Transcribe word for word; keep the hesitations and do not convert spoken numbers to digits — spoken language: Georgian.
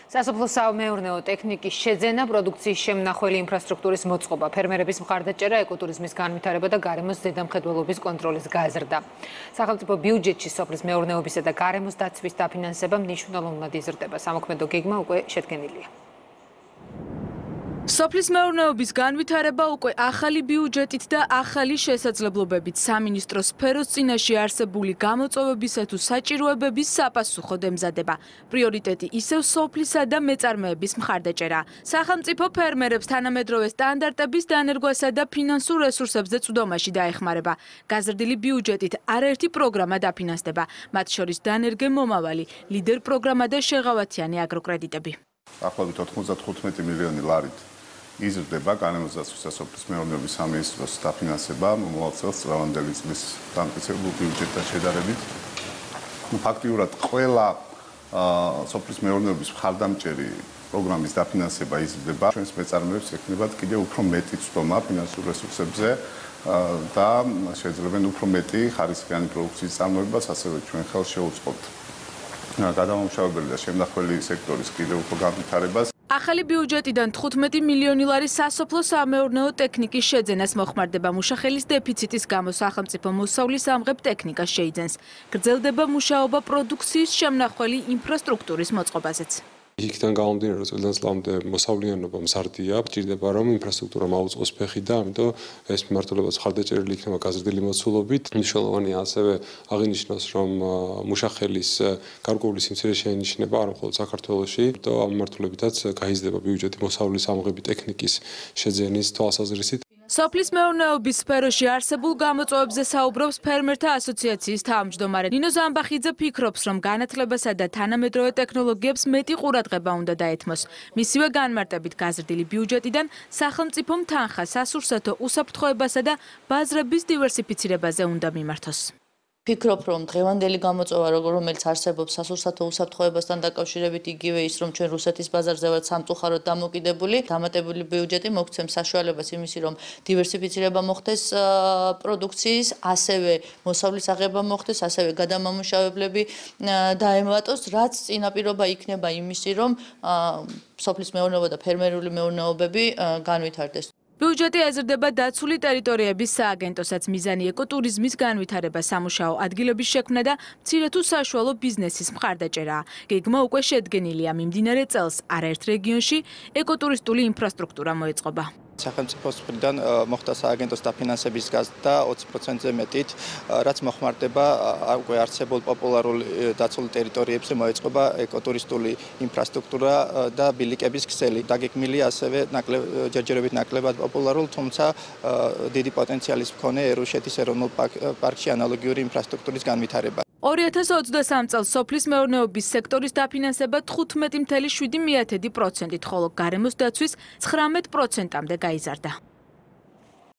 სასოფლო-სამეურნეო ტექნიკის შეძენა, პროდუქციის შემნახველი ინფრასტრუქტურის მოწყობა, ფერმერების მხარდაჭერა, ეკოტურიზმის განვითარება და გარემოს ზედამხედველობის კონტროლის გაზრდა. სახელმწიფო ბიუჯეტში სოფლის მეურნეობისა და გარემოს დაცვის დაფინანსება მნიშვნელოვნად იზრდება. სამოქმედო გეგმა უკვე შედგენილია. სოფლის მეურნეობის განვითარება უკვე ახალი ბიუჯეტით და ახალი შესაძლებლობებით სამინისტროს სფეროს წინაშე არსებული გამოწვევებისა თუ საჭიროებების საპასუხოდ ემზადება. პრიორიტეტი ისევ სოფლისა და მეწარმეების მხარდაჭერა. სახელმწიფო ფერმერებს თანამედროვე სტანდარტების დანერგვასა და ფინანსურ რესურსებზე წვდომაში დაეხმარება. გაზრდილი ბიუჯეტით არაერთი პროგრამა დაფინანსდება, მათ შორის დანერგე მომავალი, ლიდერ პროგრამა და შეღავათიანი აგროკრედიტები. Ახლობით ოთხმოცდათხუთმეტი მილიონი ლარით იზრდება გარემოს დაცვის და სოფლის მეურნეობის სამინისტროს დაფინანსება მომავალ წელს წლევანდელი წლის დამტკიცებულ ბიუჯეტთან შედარებით. ფაქტიურად ყველა სოფლის მეურნეობის მხარდამჭერი პროგრამის დაფინანსება იზრდება. ჩვენს მეწარმეებს ექნებათ კიდევ უფრო მეტი წვდომა ფინანსურ რესურსებზე და შეძლებენ უფრო მეტი ხარისხიანი პროდუქციის წარმოებას, ასევე ჩვენ ხელს შევუწყობთ გადამამუშავებელი და შემნახველი სექტორის კიდევ უფრო განვითარებას. ახალი ბიუჯეტიდან თხუთმეტი მილიონი ლარი სასოფლო-სამეურნეო ტექნიკის შეძენას მოხმარდება. მუშახელის დეფიციტის გამო სახელმწიფო მოსავლის ამღებ ტექნიკას შეიძენს. გრძელდება მუშაობა პროდუქციის შემნახველი ინფრასტრუქტურის მოწყობაზეც. იქიდან გამომდინარე, რომ წელს წლამდე მოსავლიანობა მზარდია, ჭირდება რომ ინფრასტრუქტურა მაუწყოს ფეხი და ამიტომ ეს მიმართულებაც ხარდაჭერილი იქნება გაზრდილი მოცულობით. მნიშვნელოვანია ასევე აღინიშნოს, რომ მუშახელის გარკვეული სიმცირე შეინიშნება არა მხოლოდ საქართველოში, და ამ მიმართულებითაც გაიზრდება ბიუჯეტი მოსავლის ამღები ტექნიკის შეძენის თვალსაზრისით. სოფლის მეურნეობის სფეროში არსებულ გამოწვევებზე საუბრობს ფერმერთა ასოციაციის თავმჯდომარე ნინო ზამბახიძე. ფიქრობს, რომ განათლებასა და თანამედროვე ტექნოლოგიებს მეტი ყურადღება უნდა დაეთმოს. მისივე განმარტებით გაზრდილი ბიუჯეტიდან სახელმწიფომ თანხა სასურსათო უსაფრთხოებასა და ბაზრების დივერსიფიცირებაზე უნდა მიმართოს. Ფიქრობ, რომ დღევანდელი გამოწვევა, რომელიც არსებობს სასურსათო უსაფრთხოებასთან დაკავშირებით, იგივე ის, რომ ჩვენ რუსეთის ბაზარზე ვართ სამწუხაროდ დამოკიდებული, დამატებული ბიუჯეტი მოგცემს საშუალებას იმისი, რომ დივერსიფიცირება მოხდეს პროდუქციის, ასევე მოსავლის აღება მოხდეს, ასევე გადამამუშავებლები დაემატოს, რაც წინაპირობა იქნება იმისი, რომ სოფლის მეურნეობა და ფერმერული მეურნეობები განვითარდეს. ბიუჯეტი ეზრდება დაცული ტერიტორიების სააგენტოსაც. მიზანი ეკოტურიზმის განვითარება, სამუშაო ადგილების შექმნა და მცირე თუ საშუალო ბიზნესის მხარდაჭერაა. გეგმა უკვე შედგენილია. მიმდინარე წელს არაერთ რეგიონში ეკოტურისტული ინფრასტრუქტურა მოეწყობა. სახელმწიფოს მხრიდან მოხდა სააგენტოს დაფინანსების გაზრდა ოცი პროცენტზე მეტით, რაც მოხმარდება უკვე არსებულ პოპულარულ დაცულ ტერიტორიებზე მოეწყობა ეკოტურისტული ინფრასტრუქტურა და ბილიკების ქსელი. დაგეგმილია ასევე ჯერჯერობით ნაკლებად პოპულარულ, თუმცა დიდი პოტენციალის მქონე ერუშეთის ეროვნულ პარკში ანალოგიური ინფრასტრუქტურის განვითარება. ორი ათას ოცდასამ წელს სოფლის მეურნეობის სექტორის დაფინანსება თხუთმეტი კoma შვიდი პროცენტით, ხოლო გარემოს დაცვის ცხრამეტ პროცენტამდე გაიზარდა.